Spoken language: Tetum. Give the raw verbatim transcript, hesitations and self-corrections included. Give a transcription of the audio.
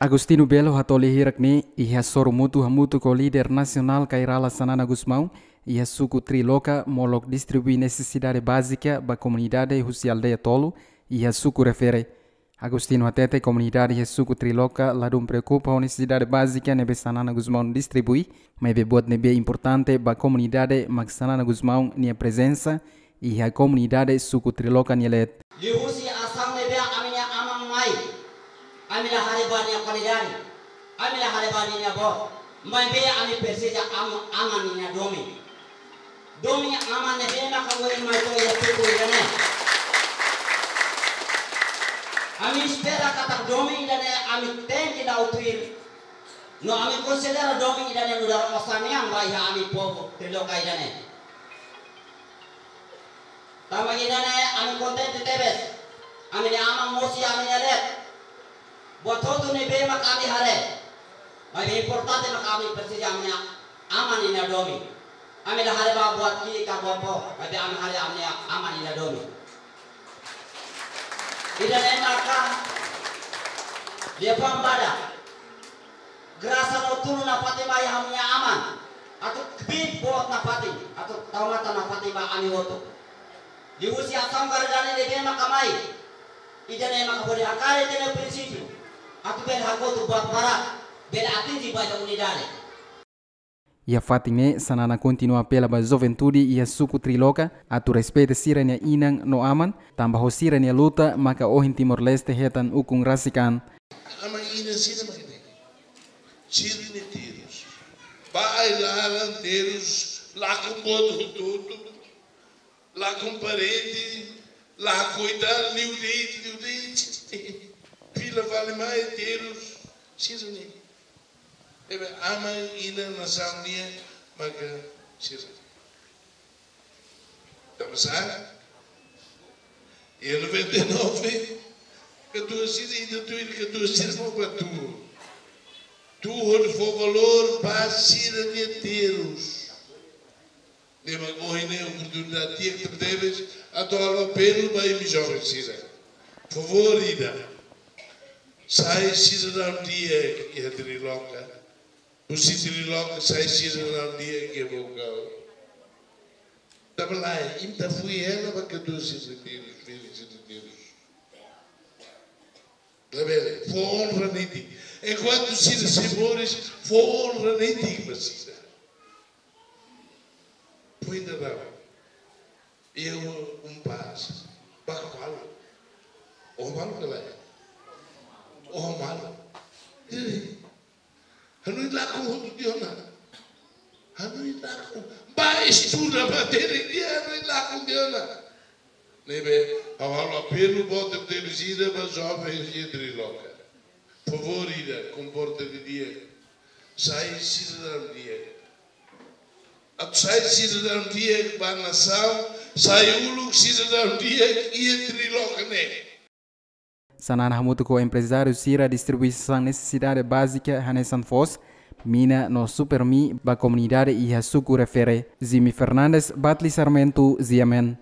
Agostinho Belo hato'o lia hirak ne'e iha sorumutu hamutuk ho líder nasionál Kay Rala Xanana Gusmão, iha suku Triloka molok distribui nesesidade bázika ba komunidade husi aldeia tolu iha suku refere. Agostinho hatete komunidade iha suku Triloka ladún preokupa ho nesesidade bázika ne'ebé Xanana Gusmão distribui, maibé buat ne'ebé importante ba komunidade mak Xanana Gusmão nia prezensa iha komunidade suku Triloka nia leet. Liuhusi asaun ne'ebé ami-nia aman mai, ami la haree ba nia kualidade, ami la haree ba nia boot, maibé ami presiza am-, aman nia domin. Domin aman ne'ebé maka ohin mai to'o iha suku ida-ne'e. Ami espera katak domin ida-ne'e ami tenke da'ot tuir. No ami konsidera domin ida-ne'e nu'udar osan nian ba iha ami povu Triloka ida-ne'e. Tanba ida-ne'e ami kontente tebes. Ami-nia aman mosu iha ami-nia leet. Buat hotu ne'ebé mak ami haree, maibé importante mak ami presiza ami-nia aman nia domin. Ami la haree ba buat ki'ik ka buat boot, maibé ami haree ami-nia aman nia domin. Ida-ne'e maka liafuan badak. Grasa no tulun nafatin mai ami-nia aman. Atu kbiit boot nafatin, atu tau matan nafatin ba ami hotu. Liuhusi asaun karidade ne'ebé maka mai, ida-ne'e maka bele hakat iha ita-nia prinsípiu atu bele hakotu buat barak, bele atinje ba ita unidade. Iha fatin ne'e, Xanana kontinua apela ba juventude iha suku Triloka atu respeita sira-nia inan no aman, tanba ho sira-nia luta maka ohin Timor-Leste hetan ukun rasik an. Aman inan sira mak ne'e. Sira-nia terus. Ba ai-laran terus, lakon boot hotu-hotu. Lakon parede, lakon ita, liu de'it, liu de'it. Fila fali mai terus, sira-ne'e. Ne'ebé aman inan nasaun nian maka sira-ne'e. Tanba sá? Iha noventa e nove, katuas sira, ita tuir katuas sira mak bá tuur. Tuur hodi fó valór ba sira-nia terus. Ne'ebé ohin ne'e oportunidade di'ak tebetebes atu halo apelu ba imi joven sira. Favór ida. Sai sidadaun di'ak iha Triloka. Husi Triloka sai sidadaun di'ak iha Baucau. Tanba lae, imi atu fui hela ba katuas sira-nia terus, filho sira-nia terus. Labele, fó onra netik. Enkuantu sira sei moris, fó onra netik ba sira. Pois ainda não. Eu um paz. Bá ka malu. Ó malu ka lae? Ó malu. Ih. Hanoin lakon hotu tiha ona. Hanoin lakon. Bá estuda matéria di'ak, hanoin lakon tiha ona. Ne'ebé, ha'u halo apelu boot tebes ida ba joven iha Triloka. Favór ida, komporta didi'ak. Sai sidadaun di'ak. Atu sai sidadaun di'ak ba nasaun, sai uluk sidadaun di'ak iha Triloka ne'e. Xanana hamutuk ho emprezáriu sira distribui sasán nesesidade bázika hanesan foos, mina no Supermi ba komunidade iha suku refere. Jimmy Fernandes, Batli Sarmento, G M N.